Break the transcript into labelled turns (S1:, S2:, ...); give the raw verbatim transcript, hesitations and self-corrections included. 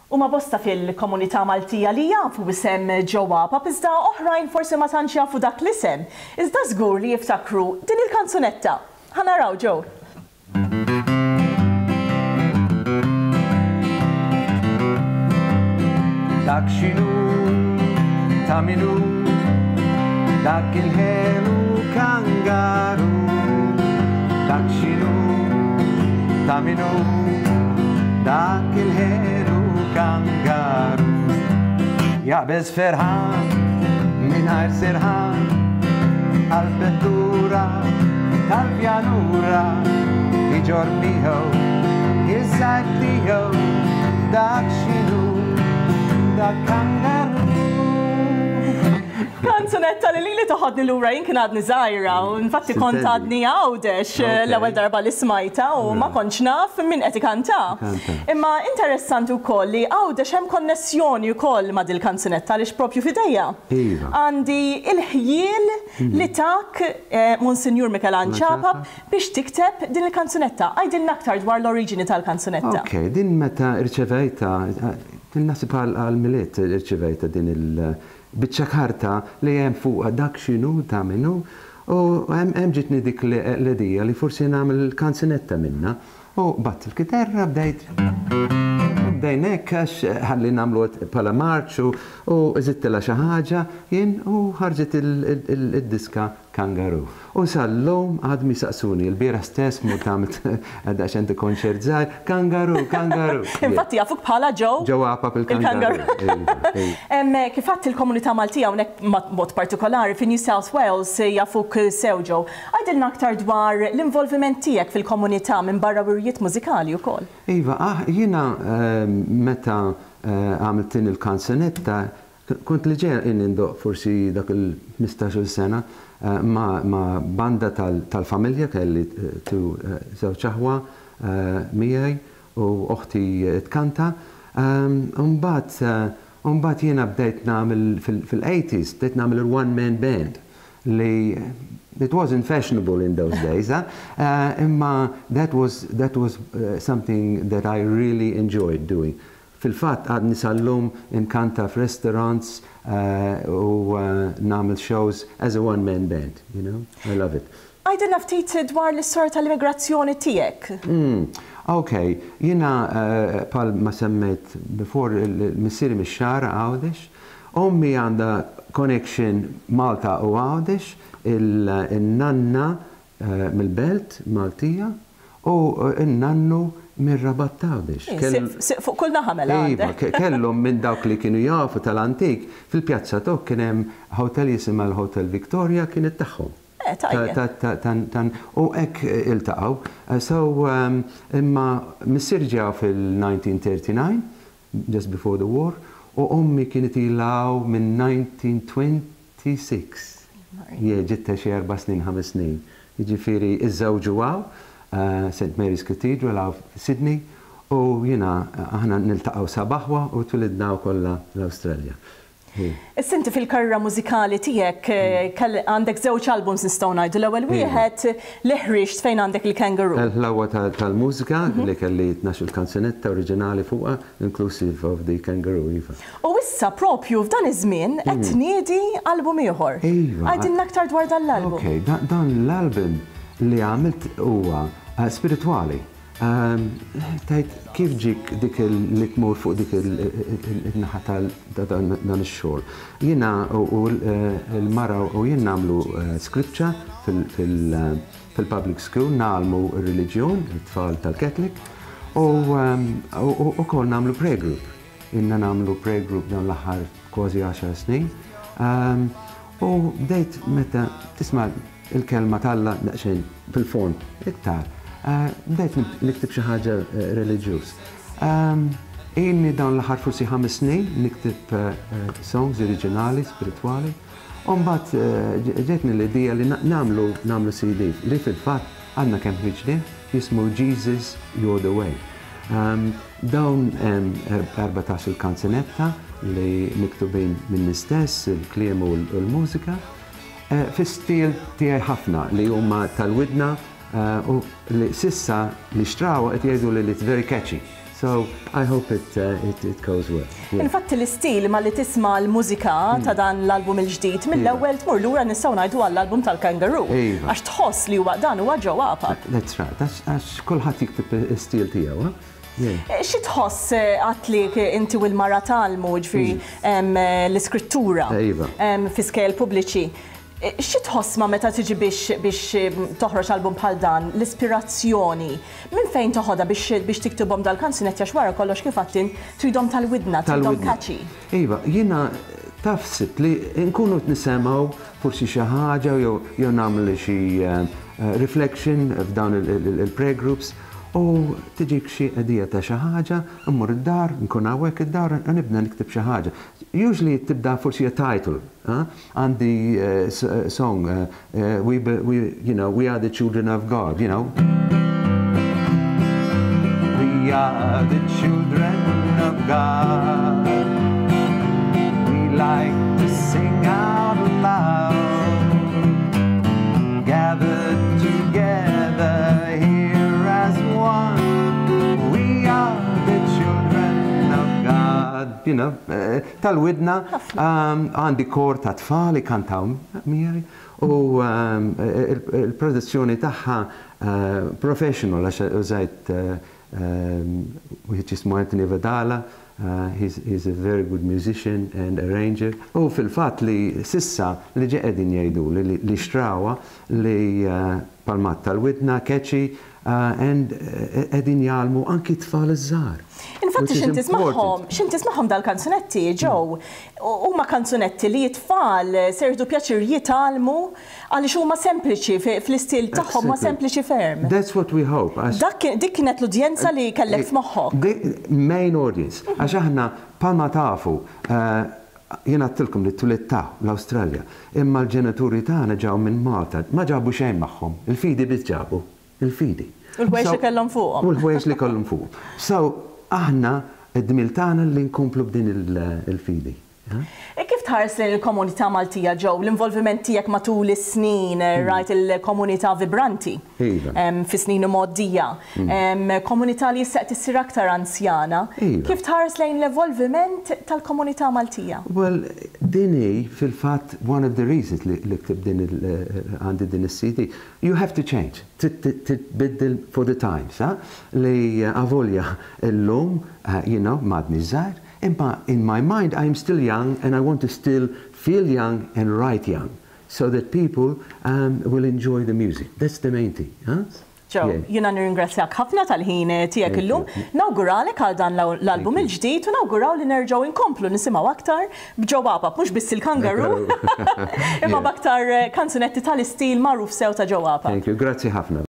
S1: Huma bosta fil-komunità Maltija li jafu isem Joe Apap, iżda oħrajn forsi ma tantx jafu dak l-isem. Iżda żgur li jiftakru din il-kanzunetta. Ħa naraw, Joe.
S2: Dak x'inhu, ta' min hu, dak il-ħelu kangaru. Dak x'inhu, ta' min hu, dak il-ħelu kangaru. Jaqbeż ferħan, mingħajr serħan, għal-vettura tal-pjanura, iġorr miegħu, iż-żgħir tiegħu, dak x'inhu, dak kangaru.
S1: Kanzunetta li li toħodni lura, jien kien għadni żgħira u infatti kont għadni Għawdex l-ewwel darba li smajta u ma kontx naf min qed ikanta. Imma interessanti wkoll li Għawdex hemm konnessjoni wkoll ma' dil-kanzunetta għaliex propju f'idejja
S2: Iva.
S1: għandi il-ħjiel li tak eh, Monsinjur Mikelanġ Apap biex tikteb din il-kanzunetta. Għidilna aktar dwar l-oriġini tal-kanzunetta.
S2: Ok, din meta rċevejta, din naħseb għal-Milied irċevejta din il-biċċa karta li hemm fuqha dak x'inhu, ta' min hu, u hemm ġitni dik l-idea li forsi nagħmel kanzunetta minna. U bgħatt il-kitarra, bdejt bdejna hekk għax ħalli nagħmlu bħala marċ u żidtilha xi ħaġa jien u ħarġet il-diska Kangaroo. U sal-lum għadhom jistaqsuni, il-bieraħ stess mort għamilt daqsxejn konċert żgħir, Kangaroo, Kangaroo.
S1: Infatti jafuk bħala Joe.
S2: Joe Apap il-Kangaroo.
S1: Kif għedt, il-komunità Maltija hawnhekk mod partikolari fi New South Wales jafuk sew, Joe. Għidilna aktar dwar l-involviment tiegħek fil-komunità minn barra wirjiet mużikali wkoll.
S2: Iva, ah, jiena meta għamilt din il-kanzunetta, kont li ġej indoqq forsi dak il-ħmistax-il sena ma, ma banda tal-familja, kelli tu żewġ aħwa miegħi u oħti tkanta. Mbagħad jiena bdejt nagħmel fil-eighties, bdejt nagħmel il-one man band li it wasn't fashionable in those days, huh? uh, imma that was, that was uh, something that I really enjoyed doing. Fil-fatt għadni sal-lum inkanta f'restaurants uh, u uh, nagħmel shows as a one-man band, you know? I love it.
S1: Għidilna ftit dwar l-istorja tal-immigrazzjoni tiegħek.
S2: Mm, ok, jiena uh, bħal ma semmejt before, missieri mix-Xagħra, Għawdex, ommi għandha connection Malta u Għawdex, il-nanna uh, mill-Belt Maltija u il-nannu mir-Rabat Għawdex.
S1: Fuq kull naħa mela.
S2: Iva, kellhom minn dawk li kienu jafu tal-antik, fil-Pjazza Tok kien hemm hotel jisimha l-Hotel Victoria, kienet tagħhom. U hekk iltaqgħu. So, imma missier ġew fil-nineteen thirty-nine, just before the war, u ommi kienet ilha hawn minn nineteen twenty-six. Je, ġiet xi erba' snin, ħames snin. Jiġifieri iżżewġu hawn, Saint Mary's Cathedral hawn Sydney, u jiena aħna niltaqgħu seba' aħwa u twilidna kollha l-Awstralja.
S1: Issa inti fil-karriera mużikali tiegħek għandek żewġ albums, nistgħu ngħidu. L-ewwel wieħed li ħriġt fejn għandek il-Kangaroo.
S2: L-ħlawa tal-mużika li kelli tnax il kanzunetta oriġinali fuqha, inclusive of the Kangaroo, iva.
S1: U issa propju f'dan iż-żmien qed tniedi album ieħor.
S2: Iva.
S1: Għidilna aktar dwar dan l-album.
S2: Ok, dan l-album li għamilt huwa spiritwali. Tajt kif ġik dik li tmur fuq dik il-naħa tal dan ix-xogħol? Jiena u l-mara u jien nagħmlu scripture fil-public school, ngħallmu r-reliġjon, it-tfal tal-Catholic, u wkoll nagħmlu prayer group. Ilna nagħmlu prayer group dan l-aħħar kważi għaxar snin. U bdejt meta tisma' il-kelma t'Alla daqsxejn fil-fond iktar, bdejt niktib xi ħaġa reliġjuż. Ilni dawn l-aħħar forsi ħames snin niktib songs oriġinali, spiritwali. U mbagħad ġetni l-idea li nagħmlu nagħmlu C D li fil-fatt għandna kemm ħriġni, jismu Jesus You're the Way. Dawn erbatax il-kanzunetta li miktubin minn stess, il-kliem u l-mużika, fi stil tiegħi ħafna li huma tal-widna u li s'issa li xtraw qed jgħidu li it's very catchy. So I hope it, uh, it, it goes well. Yeah.
S1: Infatti l-istil ma li tisma' l-mużika ta' dan l-album il-ġdid mill-ewwel tmur lura nistgħu ngħidu għall-album tal-Kangaroo.
S2: Iva.
S1: Għax tħoss li huwa dan huwa Joe Apap.
S2: That's right. That's għax kulħadd jikteb istil tiegħu, huh? Yeah.
S1: Eh, Xi tħoss eh, għatli inti u l-mara tgħallmu ġifieri em, eh, l-iskrittura
S2: Iva.
S1: em, fi skejjel pubbliċi. Eh, Xi tħoss ma meta tiġi biex biex em, toħroġ album bħal dan, l-ispirazzjoni, minn fejn toħodha biex biex tiktibhom dal-kanzunetti għax wara kollox kif għedt int tridhom tal-widna, tridhom
S2: Tal-widna.
S1: catchy.
S2: Iva, jiena taf sitt li nkunu nisimgħu forsi xi ħaġa jew jew nagħmlu xi eh, eh, reflection f'dawn il-prayer groups u tiġik xi idea ta' xi ħaġa, immur id-dar, nkun hawnhekk id-dar u nibda nikteb xi ħaġa. Usually tibda forsi a title, huh? Għandi uh, s- uh, song, uh, uh, we, be- we, you know, we are the children of God, you know. We are the children of God. We like to sing out loud. Gathered together here as one. We are the children of God. You know, eh, tal-widna um, għandi kor ta' tfal kantaw miegħi u um, il- il-produzzjoni tagħha uh, professional għax użajt uh, um, wieħed jismu Anthony Vadala, uh, he's, he's a very good musician and arranger. U fil-fatt li s'issa li ġe qegħdin jgħidu li, li, li xtrawha li uh, palmat tal-widna, catchy, uh, and uh, qegħdin jgħallmu anki tfal iż-żgħar.
S1: Infatti
S2: which is
S1: x'ħin tismagħhom,
S2: important.
S1: x'ħin tismagħhom dal-kanzunetti, Joe, huma kanzunetti li t-tfal se jieħdu pjaċir jitgħallmu għaliex huma sempliċi fi- fl-istil tagħhom huma
S2: Exactly.
S1: sempliċi ferm.
S2: That's what we hope. Għax-
S1: Dak kien- dik kienet l-udjenza li kellek f'moħħok.
S2: The main audience. Għax aħna palma tafu, uh, jiena għedtilkom li twelidt l-Australja, imma l-ġenituri tagħna ġew minn Malta, ma ġabu xejn magħhom, il-fidi biss ġabu, il-fidi.
S1: U l-ħwejjeġ
S2: So-
S1: li kellhom fuqhom.
S2: U l-ħwejjeġ li kellhom fuqhom. So, aħna id-dmir tagħna li nkomplu b'din il- il-fidi. ha?
S1: E kif tħares lejn il-komunità Maltija Joe, l-involviment tiegħek matul is-snin, rajt il-komunità vibranti
S2: Iva.
S1: em, fi snin imgħoddija, em, komunità li issa qed issir aktar anzjana.
S2: Iva.
S1: Kif tħares lejn l-evolviment tal-komunità Maltija?
S2: Well, din hi fil-fatt one of the reasons li, li ktibt din il- għandi din is-CD. You have to change. Titbiddel for the times, ha? Li uh, avolja illum, uh, you know, m'għadni żgħir, imma in my mind I am still young and I want to still feel young and write young so that people um, will enjoy the music. That's the main thing, huh?
S1: Joe,
S2: Yeah.
S1: jiena nirringrazzjak ħafna tal-ħin tiegħek
S2: Thank
S1: illum.
S2: you.
S1: Nawguralek għal dan l-album il-ġdid u nawguraw li nerġgħu inkomplu nisimgħu aktar b'Joe Apap, mhux biss il-kangaroo, imma
S2: Yeah.
S1: b'aktar kanzunetti tal-istil magħruf sew ta' Joe Apap.
S2: Thank you. Grazzi ħafna.